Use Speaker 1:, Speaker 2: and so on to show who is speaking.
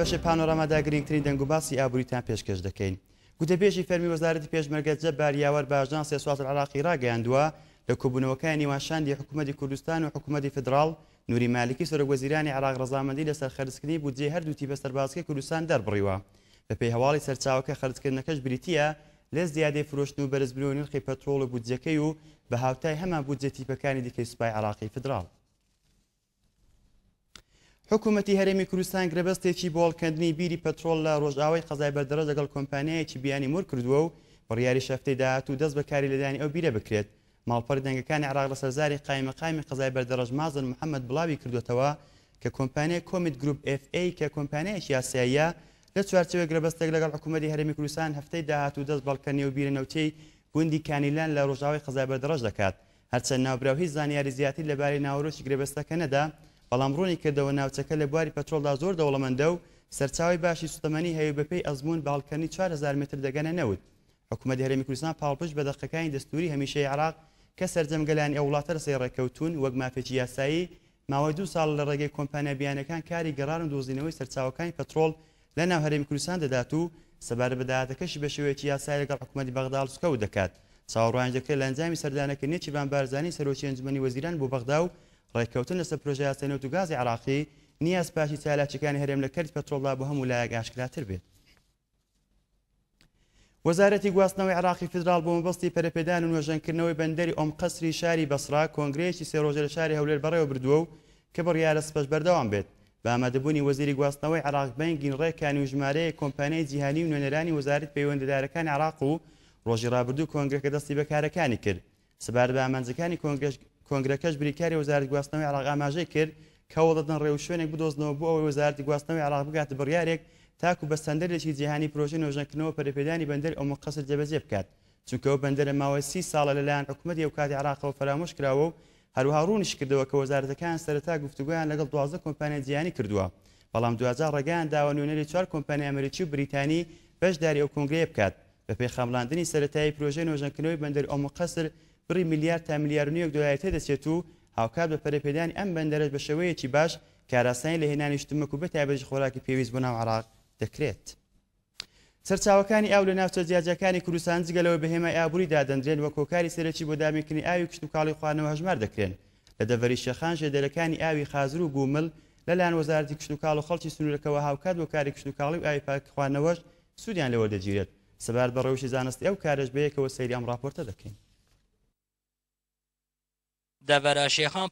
Speaker 1: بەشی پانۆرامادا گرنگترین دەنگوباسی ئابووریتان پێشکەش دەکەین. گوتەبێژی فەرمی وەزارەتی پێشمەرگە جەبار یاوەر بە ئاژانسی سوات العراقی ڕاگەیاندووە، لە کۆبوونەوەکانی نێوان شاندی حکوومەتی کوردستان و حکوومەتی فیدراڵ، نوری مالکی سەرۆک وەزیرانی عێراق ڕەزامەندی لەسەر خەرجکردنی بودجەی هەردوو تیپە سەربازیەکەی کوردستان دەربڕیوە. بەپێی هەواڵی سەرچاوەکە خەرجکردنەکەش بریتییە لە زیادەی فرۆشتن و بەرزبوونەوەی نرخی پەترۆڵ و بودجەکەی و بە هاوتای هەمان بودجەی تیپەکانی دیکەی سوپای عێراقی فیدراڵ. حکومەتی هەرێمی کوردستان گرێبەستێکی بۆ هەڵکەندنی بیری پەترۆڵ لە ڕۆژئاوای قەزای بەردەڕەش لەگەڵ کۆمپانیایەکی بیانی مۆر کردووە و بڕیاریش هەفتەی داهاتوو دەست بە کاری لێدانی ئەو بیرە بکرێت. ماڵپەڕی دەنگەکانی عێراق لەسەر زاری قایمقامی قەزای بەردەڕەش مازن محەمەد بڵاوی کردووەتەوە کە کۆمپانیای کۆمیت گروپ ئێف ئەی کە کۆمپانیایەکی ئاسیاییە لە چوارچێوەی گرێبەستێک لەگەڵ حکومەتی هەرێمی کوردستان هەفتەی داهاتوو دەست بە هەڵکەندنی ئەو بیرە نەوتیەی گوندی کانیلان لە ڕۆژئاوای قەزای بەردەڕەش دەکات. هەرچەند ناوبراو هیچ زانیاری زیاتری لەبارەی ناوەرۆکی گرێبەستەکە نەدا، بەڵام ڕوونی کردەوە ناوچەکە لە بواری پەترۆڵدا زۆر دەوڵەمەندە و سەرچاوەی باشی سوتەمەنی هەیە و بەپێی ئەزموون بە هەڵکەندنی 4000 مەتر دەگەنە نەوت. حکومەتی هەرێمی کوردستان پاڵپشت بە دەقەکانی دەستووری هەمیشەیی عێراق کە سەرجەم گەلانی ئەو وڵاتە لەسەری ڕێککەوتوون وەک مافێکی یاسایی ماوەی دوو ساڵە لە ڕێگەی کۆمپانیا بیانیەکان کاری گەڕان و دۆزینەوەی سەرچاوەکانی پەترۆڵ لە ناو هەرێمی کوردستان دەدات و سەبارەت بە داهاتەکەشی بە شێوەیەکی یاسایی لەگەڵ حکومەتی بەغدا هەڵسوکەوت دەکات. چاوەڕوانیش دەکرێت لە ئەنجامی سەردانەکەی نێچیرڤان بارزانی سەرۆکی ئەنجومەنی وەزیران بۆ بەغدا و ڕێککەوتن لەسەر پرۆژەیاسای نەوت و گازی عێراقی، نیاز پاکی چالاکییەکانی هەرێم لە کەرتی پەترۆڵدا بۆ هەموو لایەک ئاشکراتر بێت. وەزارەتی گواستنەوەی عێراقی فیدراڵ بۆ مەبەستی پەرەپێدان و نۆژەنکردنەوەی بەندەری ئۆم قەسری شاری بەسڕە کۆنگرەیەکی سێ ڕۆژە لە شاری هەولێر بەڕێوەبردووە و کە بڕیارە سپەش بەردەوام بێت بە ئامادەبوونی وەزیری گواستنەوەی عێراق بەنگین ڕێکانی و ژمارەیەک کۆمپانیای جیهانی و نوێنەرانی وەزارەتی پەیوەندیدارەکانی عێراق و ڕۆژی ڕابردوو کۆنگرەکە دەستی بە کارەکانی کرد. سەبارەت بە ئامانجەکانی کۆنگرەکەش بریکاری وەزارەتی گواستنەوەی عێراق ئاماژەی کرد کە هەوڵدەدەن ڕێوشوێنێک بدۆزنەوە بۆ ئەوەی وەزارەتی گواستنەوەی عێراق بگاتە بڕیارێک تاکو بە ستاندەرێکی جیهانی پرۆژەی نۆژەنکردنەوە و پەرەپێدانی بەندەری ئوم قەسر جێبەجێ بکات چونکە ئەو بەندەرە ماوەی سی ساڵە لەلایەن حکومەتی ئەوکاتی عێراقەوە فەرامۆش کراوە و هەروەها ڕوونیشیکردەوە کە وەزارەتەکەیان سەرەتا گفتوگۆیان لەگەڵ 12 کۆمپانیای جیهانی کردووە بەڵام دواجار ڕێگەیان داوە نوێنەری چوار کۆمپانیای ئەمریکی و بریتانی بەشداری ئەو کۆنگرەیە بکات. بەپێی خەمڵاندنی سەرەتایی پرۆژەی نۆژەنکردنەوەی بەندەری ئۆم قەسر بڕی ملیار تا ملیار و نیوێک دۆلاری تێدەچێت و هاوکات بە پەرەپێدانی ئەم بەندەرەش بە شێوەیەکی باش کارئاسانی لە هێنانی شتومەک و بەتایبەتیش خۆراکی پێویست بۆ ناو عێراق دەکرێت. سەرچاوەکانی ئاو لە ناوچە جیاجیاکانی کوردستان جگە لەوەی بە هێمای ئابووری دادەندرێن وەک هۆکاری سەرەکی بۆ دابینکردنی ئاوی کشتوکاڵی و خواردنەوە هەژمار دەکرێن. لە دەڤەری شێخان ژێدەرەکانی ئاوی خازر و گومل لەلایەن وەزارەتی کشتوکاڵ و خەڵکی سنوورەکەوە هاوکات بۆ کاری کشتوکاڵی و ئاوی پاک خواردنەوەش سوودیان لێ وەردەگیرێت. سەبارەت بە ڕەوشی زانستی ئەو کارەش بەیەکەوە سەیری ئەم ڕاپۆرتە دەکەین.
Speaker 2: دەڤەرا شێخان.